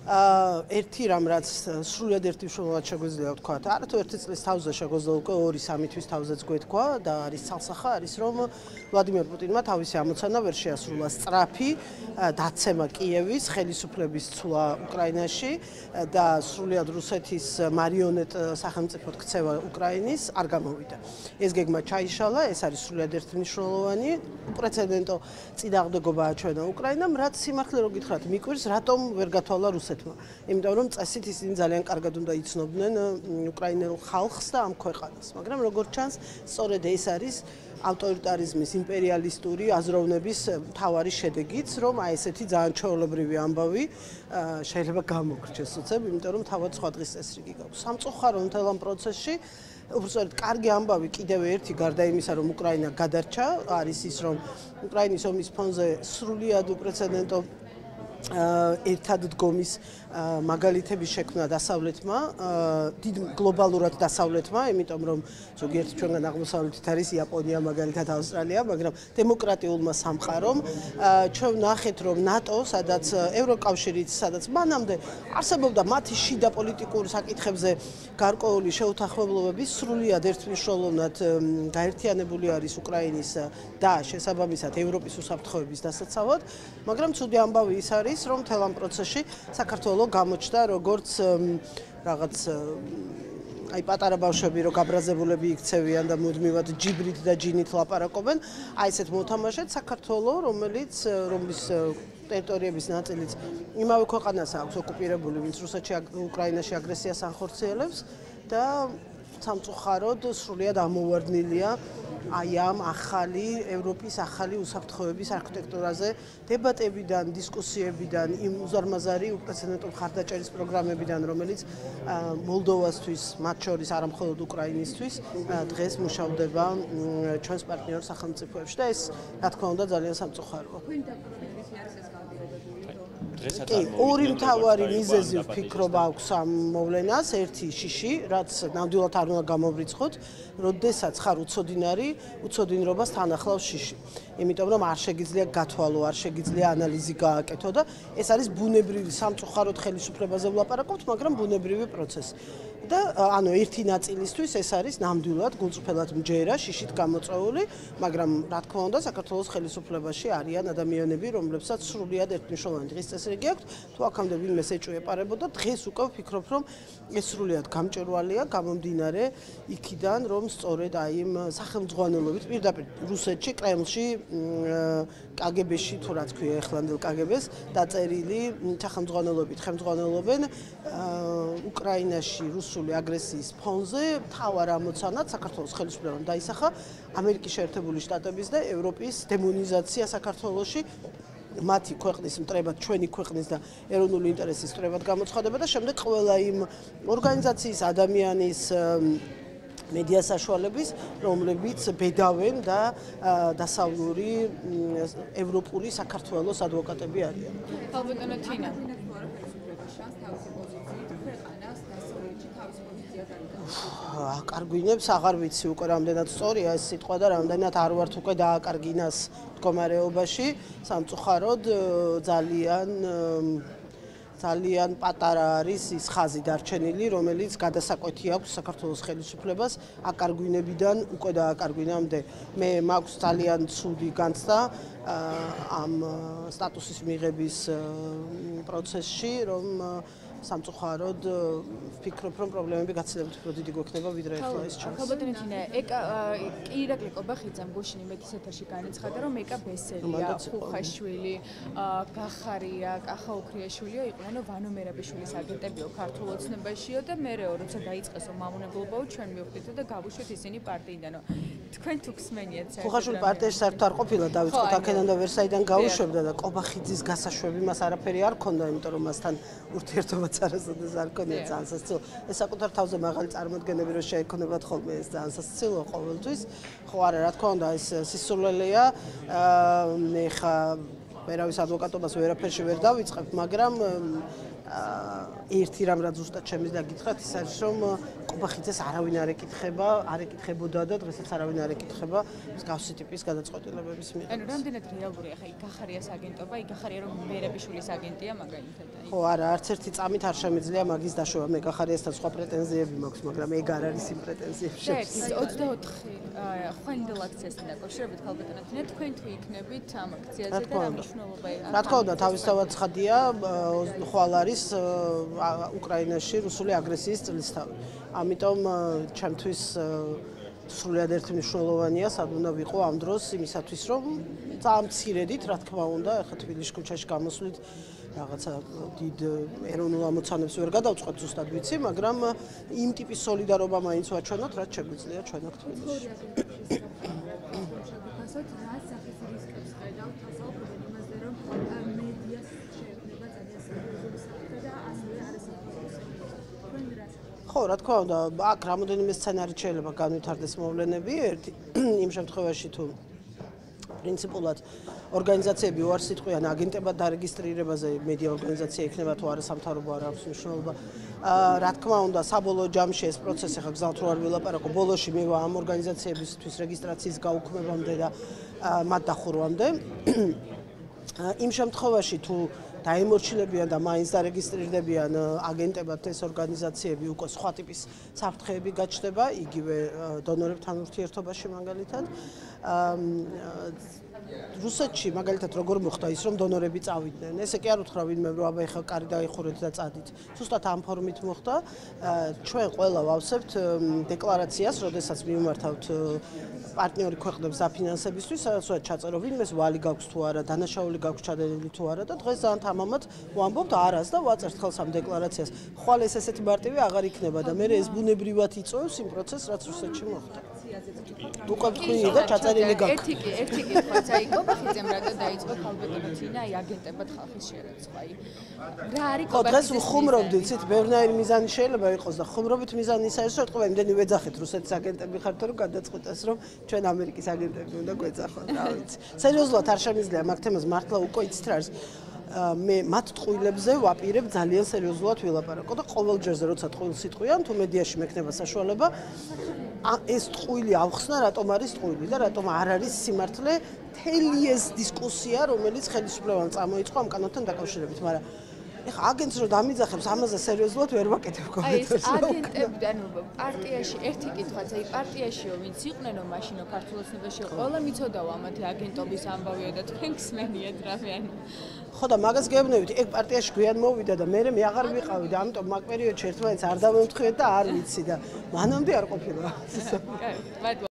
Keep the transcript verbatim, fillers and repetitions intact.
ერთი რამ რაც სრულად ერთი მნიშვნელოვნად შეგვიძლია ვთქვა, არათუ ერთი წლის თავზე შეგვიძლია უკვე ორი სამი თვის თავზეც გვეთქვა და არის ცალსახა არის რომ ვლადიმერ პუტინმა თავისი ამოცანა ვერ შეასრულა სწრაფი დაცემა კიევის ხელისუფლების ცვლა უკრაინაში და სრულად რუსეთის მარიონეტ სახელმწიფოდ ქცევა უკრაინის არ გამოვიდა. ეს გეგმა ჩაიშალა, ეს არის სრულად ერთი მნიშვნელოვანი უპრეცედენტო წინააღმდეგობაა ჩვენა უკრაინამ, რაც სიმართლე რო გითხრათ, მიკვირს რატომ ვერ გათვალა რუსეთმა. იმიტომ რომ წესით ისინი ძალიან კარგად უნდა იცნობდნენ უკრაინელ ხალხს და ამ ქვეყანას, მაგრამ როგორც ჩანს, სწორედ ეს არის ავტორიტარიზმის იმპერიალისტური აზროვნების მთავარი შედეგიც, რომ აი ესეთი ძალიან ჩვეულებრივი ამბავი შეიძლება გამოგრჩეს უცებ, იმიტომ რომ თავად სხვა დღის წესრიგი გაქვს. სამწუხარო მთელ ამ პროცესში უბრალოდ კარგი ამბავი კიდევ ერთი გარდა იმისა, რომ უკრაინა გადარჩა, არის ის, რომ უკრაინის ომის ფონზე სრულად უპრეცედენტო ერთად დგომის მაგალითების შექმნა დასავლეთმა, დიდ გლობალურად დასავლეთმა, იმიტომ რომ ზოგიერთი ჩვენგან აღმოსავლეთით არის იაპონია, მაგალითად ავსტრალია, მაგრამ დემოკრატიულმა სამყარომ ჩვენ ვნახეთ, რომ ნატო, სადაც ევროკავშირიც, სადაც მანამდე არსებობდა მათი შიდა პოლიტიკურ საკითხებზე გარკვეული შეუთანხმებლობები, სრულად ერთმნიშვნელოვნად გაერთიანებული არის უკრაინის და შესაბამისად ევროპის უსაფრთხოების დასაცავად, მაგრამ ცუდი ამბავი ის არის, რომ მთელ ამ პროცესში საქართველოს გამოჩნდა როგორც რაღაც აი პატარა ბავშვები რო გაბრაზებულები იქცევიან და მუდმივად ჯიბრით და ჯინით ლაპარაკობენ, აი ესეთ მოთამაშეთ საქართველოს, რომელიც რომლის ტერიტორიების ნაწილიც იმავე ქვეყანას აქვს ოკუპირებული, ვინც რუსეთში უკრაინაში აგრესიას ანხორციელებს და სამწუხაროდ სრულად ამოვარდნილია აი ამ ახალი ევროპის ახალი უსაფრთხოების არქიტექტურაზე დებატებიდან, დისკუსიებიდან, იმ უზარმაზარი უპრეცედენტო მხარდაჭერის პროგრამებიდან, რომელიც მოლდოვასთვის, მათ შორის არა მხოლოდ უკრაინისთვის, დღეს მუშავდება ჩვენს პარტნიორ სახელმწიფოებში და ეს, რა თქმა უნდა, ძალიან სამწუხაროა. კი, ორი მთავარი მიზეზი ვფიქრობ აქვს ამ მოვლენას, ერთი შიში, რაც ნამდვილად არ უნდა გამოვრიცხოთ, როდესაც ხარ უცოდინარი, უცოდინრობას თან ახლავს შიში. იმიტომ რომ არ შეგიძლია გათვალო, არ შეგიძლია ანალიზი გააკეთო და ეს არის ბუნებრივი სამწუხაროდ ხელისუფლებაზე ვლაპარაკობთ, მაგრამ ბუნებრივი პროცესი. და ანუ ერთი ნაწილისთვის ეს არის ნამდვილად გულწრფელად მჯერა, შიშით გამოწვეული, მაგრამ რა თქმა უნდა, საქართველოს ხელისუფლებაში არიან ადამიანები, რომლებსაც სრულად ერთმნიშვნელოვანი დღის წესრიგი აქვთ, თუ აქამდე ვინმე ეჭვეპარებოდა, დღეს უკვე ვფიქრობ, რომ ეს სრულად გამჭვირვალეა, გამომდინარე იქიდან, რომ სწორედ აი იმ სახელმძღვანელობით, პირდაპირ რუსეთში, კრემლში, კაგებეში, თუ რა თქვია ეხლანდელ კაგებეს, დაწერილი სახელმძღვანელობით ხელმძღვანელობენ უკრაინაში რუსული აგრესიის ფონზე მთავარ ამოცანად საქართველოს ხელისუფლებამ დაისახა ამერიკის შეერთებული შტატების და ევროპის დემონიზაცია საქართველოში მათი ქვეყნის მტრებად, ჩვენი ქვეყნის და ეროვნული ინტერესის მტრებად გამოცხადება და შემდეგ ყველა იმ ორგანიზაციის ადამიანის მედია საშუალების, რომლებიც ბედავენ და დასავლური ევროპული საქართველოს ადვოკატები არიან. ალბათო თინა აკარგვინებს, აღარ ვიცი უკვე რამდენად სწორია ეს სიტყვა და რამდენად არ ვართ უკვე დააკარგინას მდგომარეობაში, სამწუხაროდ ძალიან ძალიან პატარა არის ის ხაზი დარჩენილი, რომელიც გადასაკვეთი აქვს საქართველოს ხელისუფლებას აკარგვინებიდან უკვე დააკარგვინამდე. მე მაქვს ძალიან ცუდი განცდა ამ სტატუსის მიღების პროცესში, რომ სამწუხაროდ ვფიქრობ, რომ პრობლემები გაცილებით უფრო დიდი გვექნება, ვიდრე ახლა ის ჩანს. ალბათო თინა, ეკა ირაკლი კობახიძემ გუშინ იმეთის ეთერში განაცხადა, რომ ეკა ბესელია, ხუხაშვილი, გახარია, კახა უქრიაშვილიო იყვნენ, ვანო მერაბიშვილის აგენტებიო ქართულ ოცნებაშიო და მერეო, როცა დაიწყესო მამონებლობაო, ჩვენ მივხვდითო და გავუშვით ისინი პარტიიდანო. თქვენ თუ გსმენიათ საერთოდ ხუხაშვილი პარტიაში საერთოდ არ ყოფილა, დავიწყოთ აქედან და ვერსაიდან გაუშვებდა და კობახიძის გასაშვები მას არაფერი არ ქონდა, იმიტომ რომ მასთან ურთიერთობა არასოდეს არ ქონია ძალიან სასაცილო. ეს საკუთარ თავზე მაღალი წარმოდგენები რო შეექონებათ ხოლმე ეს ძალიან სასაცილო ყოველთვის. ხო არა, რა თქმა უნდა, ეს სისულელეა. მე ხა ვერავის ადვოკატობას ვერაფერში ვერ დავიწყებ, მაგრამ ერთი რამ რაც ზუსტად შემიძლია გითხრათ ის არის რომ კობახიძეს არავინ არ ეკითხება, არ ეკითხებოდა და დღესაც არავინ არ ეკითხება მსგავსი ტიპის გადაწყვეტილებების მიღებას. ანუ რამდენად რეალურია ხა იქ გახარიას აგენტობა, იქ გახარია რომ მერაბიშვილის აგენტია მაგალითად. ხო, არა, არც ერთი წამით არ შემიძლია მაგის დაშოვა. მე გახარიასთან სხვა პრეტენზიები მაქვს, მაგრამ ეგ არ არის იმ პრეტენზიებში. ოცდაოთხი ხვანდელ აქციასთან დაკავშირებით ქალბატონებთან თქვენ თუ იქნებით ამ აქციაზე და რა მნიშვნელობა აქვს? რა თქმა უნდა, თავისთავად ცხადია, ხვალ არის უკრაინაში რუსული აგრესიის წლისთავი. ამიტომ ჩემთვის სრულიად ერთმნიშვნელოვანია, სად უნდა ვიყო ამ დროს იმისათვის, რომ ძალიან მცირედით, რა თქმა უნდა, ახლა თბილისში ქუჩაში გამოსვლით რაღაცა დიდ ეროვნულ ამოცანებს ვერ გადავწყვეტ ზუსტად ვიცი, მაგრამ იმ ტიპის სოლიდარობა მაინც ვაჩვენოთ, რაც შეგვიძლია ჩვენო თბილისში. ხო, რა თქმა უნდა, აქ რამოდენიმე სცენარით შეიძლება განვითარდეს მოვლენები. ერთი იმ შემთხვევაში თუ პრინციპულად ორგანიზაციები უარსიტყვიან აგენტებად დარეგისტრირებაზე, მედია ორგანიზაცია იქნება თუ არა სამთავრობო არ აქვს მნიშვნელობა. რა თქმა უნდა, საბოლოო ჯამში ეს პროცესი ხა გზავთ რო არ ვილაპარაკო, ბოლოში მივა ამ ორგანიზაციებისთვის რეგისტრაციის გაუქმებამდე და მათ დახურვამდე. იმ შემთხვევაში თუ დაემორჩილებიან და მაინც დარეგისტრირდებიან აგენტებად ეს ორგანიზაციები უკვე სხვა ტიპის საფრთხეები გაჩნდება იგივე დონორებთან ურთიერთობაში მაგალითად რუსეთში მაგალითად როგორ მოხდა ის რომ დონორები წავიდნენ ესე კი არ უთხრა ვინმე რომ აბა ეხლა კარი დაიხურეთ და წადით ზუსტად ამ ფორმით მოხდა ჩვენ ყველა ვავსებთ დეკლარაციას როდესაც მიმართავთ პარტნიორი ქვეყნებს დაფინანსებისთვის სადაც ჩაწერო ვინმეს ვალი გაქვს თუ არა დანაშაული გაქვს ჩადენილი თუ არა და დღეს ძალიან თამამად ვამბობთ არას და ვაწერთ ხელს ამ დეკლარაციას ხვალ ეს ესეთი მარტივი აღარ იქნება და მე ეს ბუნებრივად იწვევს იმ პროცესს რაც რუსეთში მოხდა უკვე თქვი და ჩაწერილი გაქვს ერთი კი ერთი კითხვაც აი კობახიძემ რა დაიწყო ქალბატონოთინა აი აგენტებად ხალხის შერეცვა აი რა არის კობახიძე დღეს ხუმრობდით ცით ბევრნაირი მიზანი შეიძლება იყოს და ხუმრობით მიზანი ის არის რომ ეთქვა იმდენი ვეძახეთ რუსეთის აგენტები ხართ რომ გადაწყვეტეს რომ ჩვენ ამერიკის აგენტები უნდა გვეძახოთ რა ვიცი სერიოზულად არ შემიძლია მაგ თემას მართლა უკვე იცით რა არის მე მათ ტყუილებზე ვაპირებ ძალიან სერიოზულად ვილაპარაკო და ყოველ ჯერზე როცა ტყუილს იტყვიან თუ მედიაში მექნება საშუალება ეს ტყუილი ავხსნა რატომ არის ტყუილი და რატომ არ არის სიმართლე მთელი ეს დისკუსია რომელიც ხელისუფლებამ წამოიწყო ამ კანონთან დაკავშირებით მაგრამ ეხა აგენტს რო დამიძახებს ამაზე სერიოზულად ვერ ვაკეთებ კომენტარს. აი ეს აგენტები ანუ პარტიაში ერთი კითხვაც აი პარტიაშიო ვინც იყვნენო მაშინო ქართულ ოცნებაში ყველა მიცოდაო ამათი აგენტობის ამბავიო და თქვენ გსმენიათ რამე ანუ ხო და მაგას გეუბნებით ეგ პარტიაში გვიან მოვიდა და მე მე აღარ ვიყავი და ამიტომ მაგ პერიოდში ერთმანეთს არ დავემთხვიეთ და არ ვიცი და მანამდე არ ყოფილა. კაი, მადლობა.